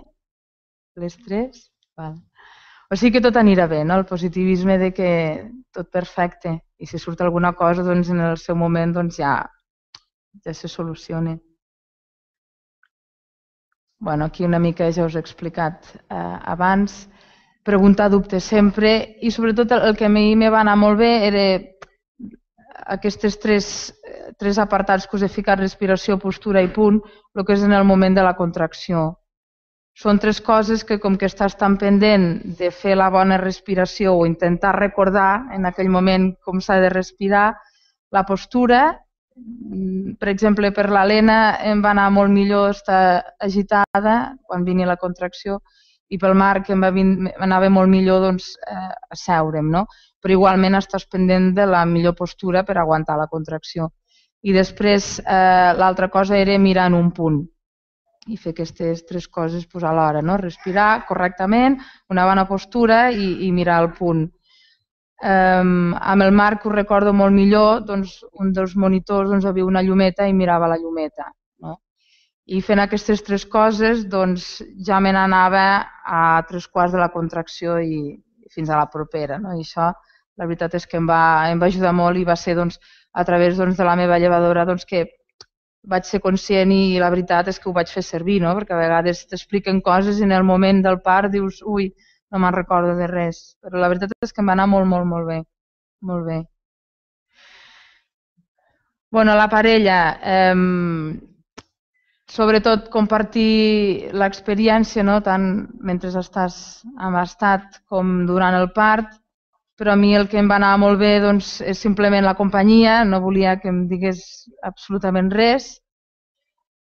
les tres, val. O sigui que tot anirà bé, no? El positivisme de que tot perfecte, i si surt alguna cosa, en el seu moment ja se soluciona. Bueno, aquí una mica ja us he explicat abans. Preguntar dubtes sempre, i sobretot el que a mi me va anar molt bé era aquests tres apartats que us he ficat, respiració, postura i punt, el que és en el moment de la contracció. Són tres coses que, com que estàs tan pendent de fer la bona respiració o intentar recordar en aquell moment com s'ha de respirar, la postura, per exemple, per l'Helena em va anar molt millor estar agitada quan venia la contracció, i pel Marc em anava molt millor asseure'm, no? Però igualment estàs pendent de la millor postura per aguantar la contracció. I després l'altra cosa era mirar en un punt i fer aquestes tres coses alhora, no? Respirar correctament, una bona postura i mirar el punt. Amb el Marc ho recordo molt millor, un dels monitors havia una llumeta i mirava la llumeta. I fent aquestes tres coses ja me n'anava a 3/4 de la contracció i fins a la propera. I això, la veritat és que em va ajudar molt, i va ser a través de la meva llevadora que vaig ser conscient, i la veritat és que ho vaig fer servir, perquè a vegades t'expliquen coses i en el moment del part dius, ui, no me'n recordo de res. Però la veritat és que em va anar molt, molt, molt bé. Molt bé. Bueno, la parella, sobretot compartir l'experiència, tant mentre estàs embastat com durant el part, però a mi el que em va anar molt bé és simplement la companyia, no volia que em digués absolutament res,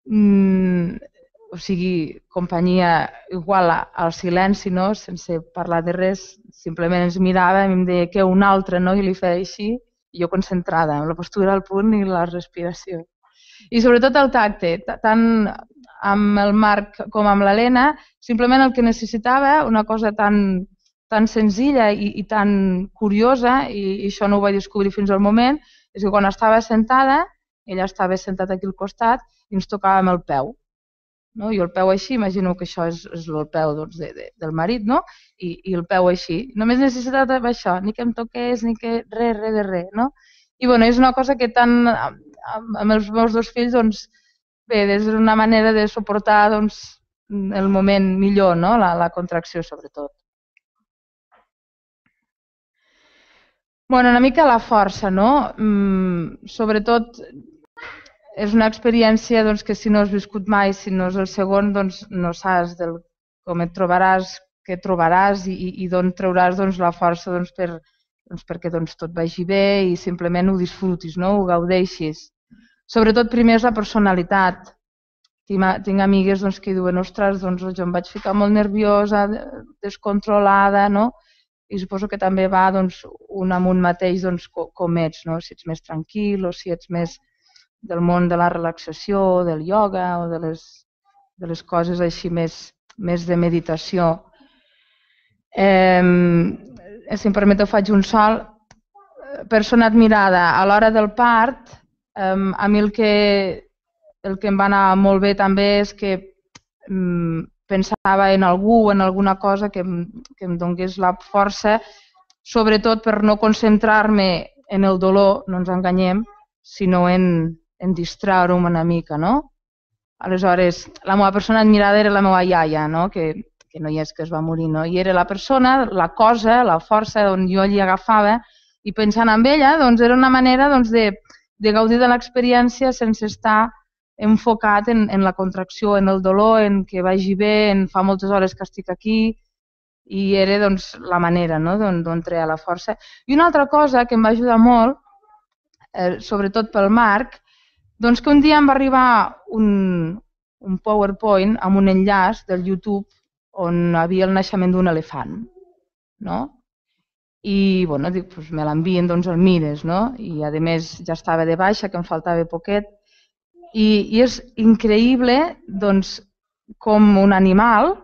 o sigui, companyia igual al silenci, sense parlar de res, simplement ens mirava i em deia que un altre, i li feia així, i jo concentrada en la postura, el punt i la respiració. I sobretot el tacte, tant amb el Marc com amb l'Helena, simplement el que necessitava, una cosa tan senzilla i tan curiosa, i això no ho vaig descobrir fins al moment, és que quan estava sentada, ella estava sentada aquí al costat i ens tocàvem el peu. I el peu així, imagino que això és el peu del marit, i el peu així. Només necessitava això, ni que em toqués, ni que res de res. I és una cosa que tant amb els meus dos fills, bé, és una manera de suportar el moment millor, la contracció sobretot. Una mica la força, sobretot és una experiència que si no has viscut mai, si no és el segon, no saps com et trobaràs, què trobaràs i d'on trauràs la força perquè tot vagi bé i simplement ho disfrutis, ho gaudeixis. Sobretot primer és la personalitat. Tinc amigues que diuen, ostres, jo em vaig ficar molt nerviosa, descontrolada, i suposo que també va un amb un mateix com ets, si ets més tranquil o si ets més del món de la relaxació, del ioga o de les coses així més de meditació. Si em permeteu, faig un salt. Persona admirada. A l'hora del part, a mi el que em va anar molt bé també és que pensava en algú o en alguna cosa que em donés la força, sobretot per no concentrar-me en el dolor, no ens enganyem, sinó en distraure-me una mica. Aleshores, la meva persona admirada era la meva iaia, que no hi és, que es va morir, i era la persona, la cosa, la força on jo li agafava, i pensant en ella era una manera de gaudir de l'experiència sense estar enfocat en la contracció, en el dolor, en que vagi bé, en fa moltes hores que estic aquí, i era doncs, la manera d'on treia la força. I una altra cosa que em va ajudar molt, sobretot pel Marc, doncs que un dia em va arribar un PowerPoint amb un enllaç del YouTube on hi havia el naixement d'un elefant. I bueno, dic, doncs me l'envien, doncs el mires, i a més ja estava de baixa, que em faltava poquet. I és increïble doncs, com un animal,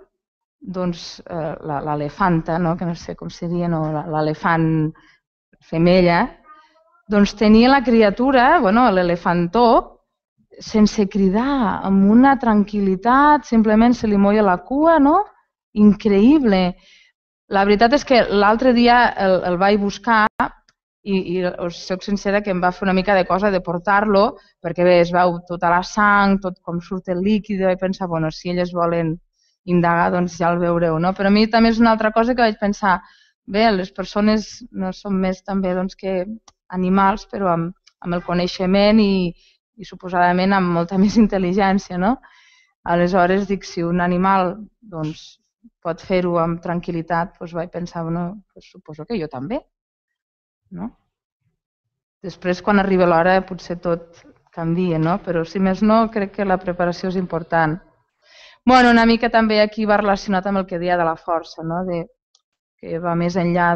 doncs, l'elefanta, que no sé com seria, l'elefant femella, doncs tenia la criatura, l'elefantó, sense cridar, amb una tranquil·litat, simplement se li moia la cua, increïble. La veritat és que l'altre dia el vaig buscar i us soc sincera que em va fer una mica de cosa de portar-lo, perquè bé, es veu tota la sang, tot com surt el líquid, i vaig pensar, bueno, si elles volen indagar, doncs ja el veureu, Però a mi també és una altra cosa que vaig pensar, bé, les persones no són més també que animals, però amb el coneixement i suposadament amb molta més intel·ligència, Aleshores, dic, si un animal pot fer-ho amb tranquil·litat, doncs vaig pensar, suposo que jo també. Després, quan arriba l'hora, potser tot canvia, però si més no, crec que la preparació és important. Una mica també aquí va relacionat amb el que deia de la força, que va més enllà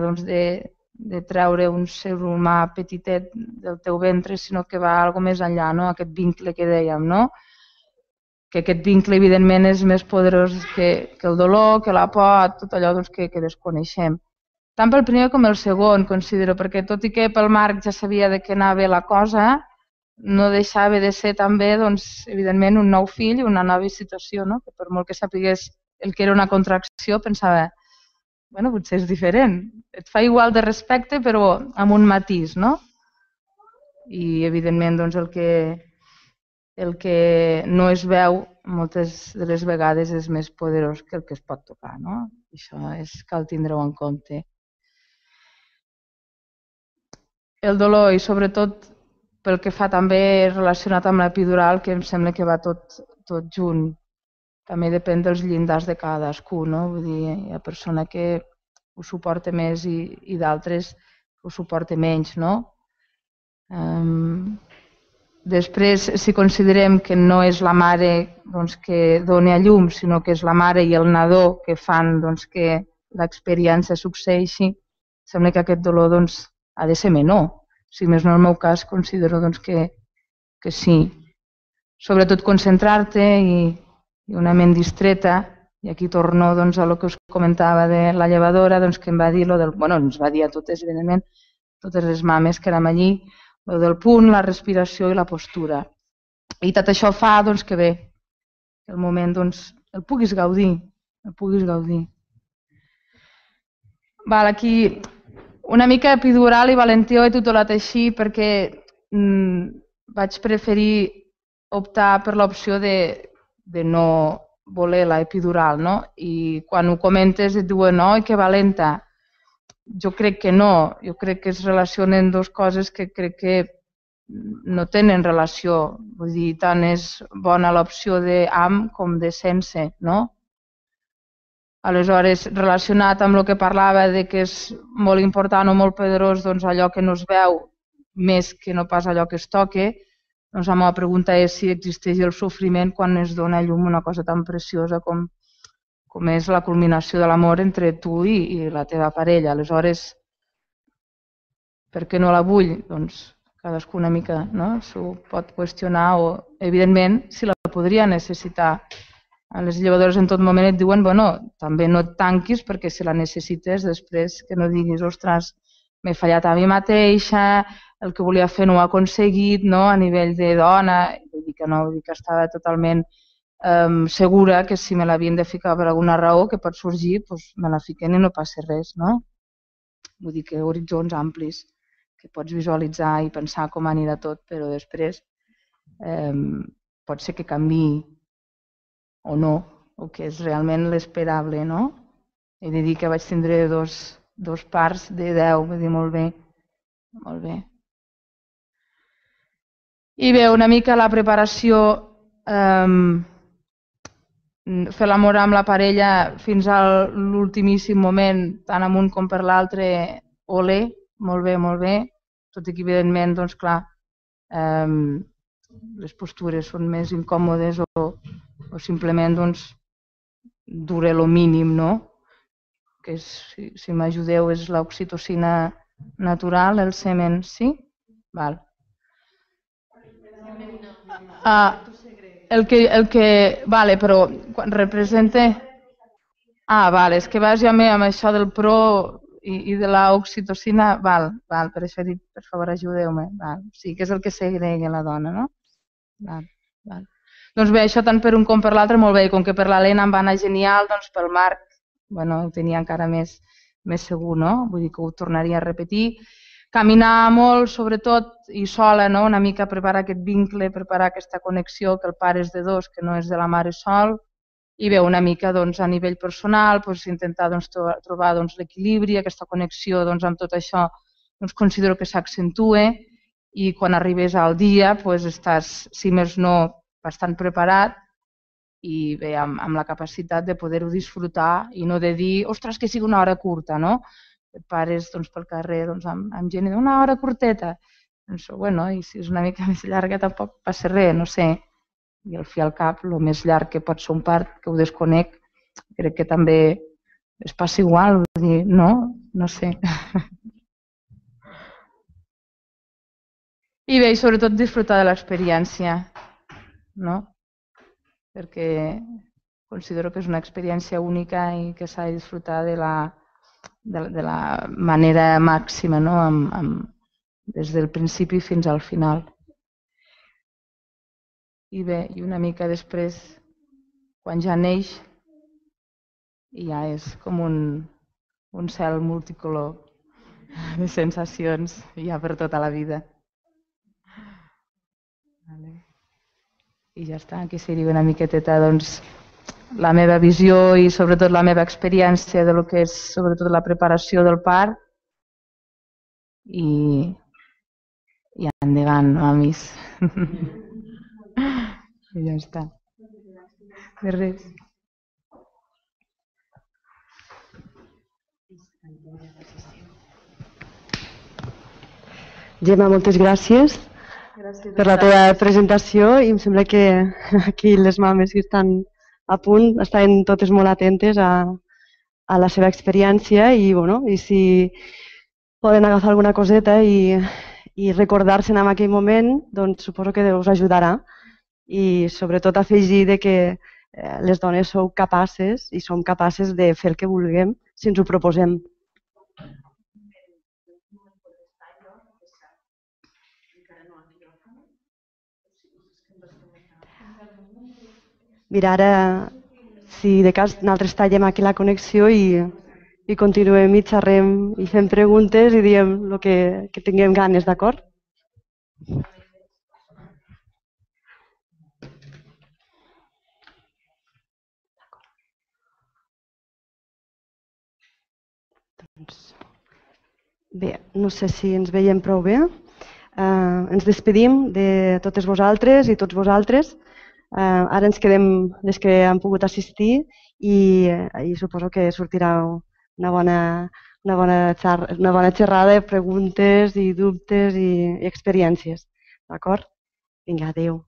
de treure un ser humà petitet del teu ventre, sinó que va algo més enllà, aquest vincle que dèiem, que aquest vincle evidentment és més poderós que el dolor, que la por, tot allò que desconeixem. Tant pel primer com el segon, considero, perquè tot i que pel Marc ja sabia de què anava la cosa, no deixava de ser també, evidentment, un nou fill i una nova situació, que per molt que sapigués el que era una contracció, pensava, potser és diferent. Et fa igual de respecte, però amb un matís, I, evidentment, el que no es veu moltes de les vegades és més poderós que el que es pot tocar, Això cal tindre-ho en compte. El dolor i sobretot pel que fa també relacionat amb l'epidural, que em sembla que va tot junt. També depèn dels llindars de cadascú, Vull dir, hi ha persona que ho suporta més i d'altres ho suporta menys, Després, si considerem que no és la mare que dona a llum, sinó que és la mare i el nadó que fan que l'experiència succeeixi, sembla que aquest dolor ha de ser menor. Si més no, en el meu cas, considero que sí. Sobretot concentrar-te i una ment distreta, i aquí torno a el que us comentava de la llevadora, que em va dir, ens va dir a totes, evidentment, totes les mames que érem allí, el del punt, la respiració i la postura. I tot això fa que bé, que el moment el puguis gaudir, Aquí una mica epidural i Valentí ho he titulat així perquè vaig preferir optar per l'opció de no voler la epidural, I quan ho comentes et diuen, oi, que valenta. Jo crec que no, jo crec que es relacionen dues coses que crec que no tenen relació. Vull dir, tant és bona l'opció d'amb com de sense, Aleshores, relacionat amb el que parlava de que és molt important o molt poderós allò que no es veu més que no pas allò que es toca, la meva pregunta és si existeix el sofriment quan es dona a llum una cosa tan preciosa com és la culminació de l'amor entre tu i la teva parella. Aleshores, per què no la vull? Cadascú una mica s'ho pot qüestionar o, evidentment, si la podria necessitar. A les llevadores en tot moment et diuen, també no et tanquis perquè si la necessites després que no diguis, ostres, m'he fallat a mi mateixa, el que volia fer no ho he aconseguit, a nivell de dona, vull dir que no, vull dir que estava totalment segura que si me l'havien de ficar per alguna raó que pot sorgir, me la fiquen i no passa res, Vull dir que horitzons amplis, que pots visualitzar i pensar com anirà tot, però després pot ser que canviï o no, o que és realment l'esperable, He de dir que vaig tindre dos parts de 10, vull dir, molt bé. I bé, una mica la preparació fer l'amor amb la parella fins a l'ultimíssim moment, tant amunt com per l'altre, olé, molt bé, tot i que evidentment, doncs clar, les postures són més incòmodes o simplement doncs dure lo mínim, no? Que si m'ajudeu és l'oxitocina natural, el semen, sí? Val. Vale, però quan representa... vale, és que vas ja amb això del pro i de l'oxitocina, val, per això he dit, per favor, ajudeu-me. Sí, que és el que segrega la dona, no? Val. Doncs bé, això tant per un com per l'altre, molt bé, i com que per l'Helena em va anar genial, doncs pel Marc, bueno, ho tenia encara més segur, no? Vull dir que ho tornaria a repetir. Caminar molt, sobretot, i sola, no? Una mica preparar aquest vincle, preparar aquesta connexió, que el pare és de dos, que no és de la mare sol, i bé, una mica doncs, a nivell personal, doncs, intentar doncs, trobar doncs, l'equilibri, aquesta connexió doncs, amb tot això, doncs, considero que s'accentue i quan arribes al dia doncs, estàs, si més no, bastant preparat i bé, amb la capacitat de poder-ho disfrutar i no de dir, ostres, que sigui una hora curta, no? Et pares doncs, pel carrer doncs, amb gent i una hora curteta. Doncs, bueno, i si és una mica més llarga tampoc passa res, no sé. I al fi al cap, el més llarg que pot ser un part, que ho desconec, crec que també es passa igual, vull dir, no? No sé. I bé, i sobretot disfrutar de l'experiència, no? Perquè considero que és una experiència única i que s'ha de disfrutar de la manera màxima, no? Des del principi fins al final. I bé, i una mica després, quan ja neix, ja és com un cel multicolor de sensacions ja per tota la vida. I ja està, aquí seria una miqueteta doncs, la meva visió i sobretot la meva experiència de lo que és sobretot la preparació del part i endavant, mamis. I ja està. De res. Gemma, moltes gràcies per la teva presentació i em sembla que aquí les mames que estan a punt estaven totes molt atentes a la seva experiència i, bueno, i si poden agafar alguna coseta i recordar-se'n en aquell moment, doncs suposo que us ajudarà. I sobretot afegir que les dones sou capaces i som capaces de fer el que vulguem si ens ho proposem. Mira, ara, si de cas nosaltres tallem aquí la connexió i continuem i xerrem i fem preguntes i diem el que tinguem ganes, d'acord? Bé, no sé si ens veiem prou bé. Ens despedim de totes vosaltres i tots vosaltres. Ara ens quedem les que han pogut assistir i suposo que sortirà una bona xerrada de preguntes i dubtes i experiències. D'acord? Vinga, adéu.